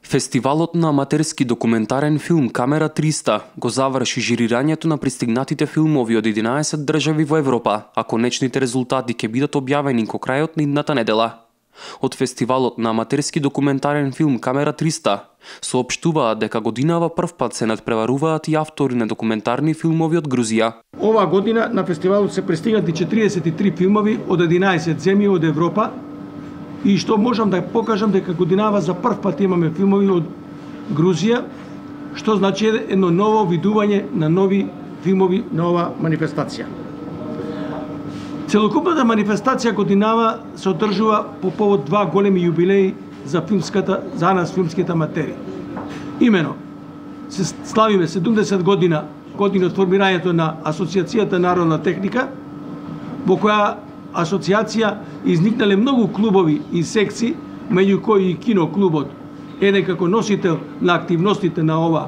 Фестивалот на аматерски документарен филм Камера 300 го заврши жирирањето на пристигнатите филмови од 11 држави во Европа, а конечните резултати ќе бидат објавени кон крајот на идната недела. Од фестивалот на аматерски документарен филм Камера 300 соопштуваат дека годинава првпат се надпреваруваат и автори на документарни филмови од Грузија. Ова година на фестивалот се пристигнати 43 филмови од 11 земји од Европа. И што можам да покажам дека годинава за прв пат имаме филмови од Грузија, што значи едно ново видување на нови филмови на ова манифестација. Целокупната манифестација годинава се одржува по повод два големи јубилеи за нас филмските аматери. Имено, се славиме 70 години од формирањето на Асоциацијата Народна техника, во која асоциација изникнале многу клубови и секции, меѓу кои и киноклубот, еден како носител на активностите на ова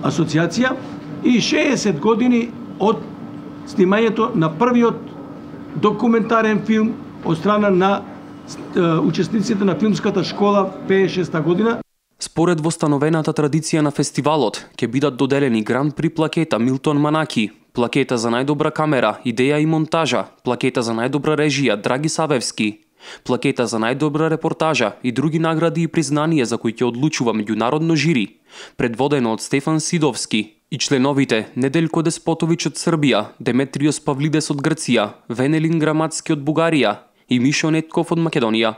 асоциација, и 60 години од снимањето на првиот документарен филм од страна на учесниците на филмската школа 56 година. Според востановената традиција на фестивалот, ќе бидат доделени гран при плакета Милтон Манаки, плакета за најдобра камера, идеја и монтажа, плакета за најдобра режија Драги Савевски, плакета за најдобра репортажа и други награди и признанија за кои ќе одлучува меѓународно жири, предводено од Стефан Сидовски и членовите Неделко Деспотовиќ од Србија, Деметриос Павлидес од Грција, Венелин Граматски од Бугарија и Мишо Нетков од Македонија.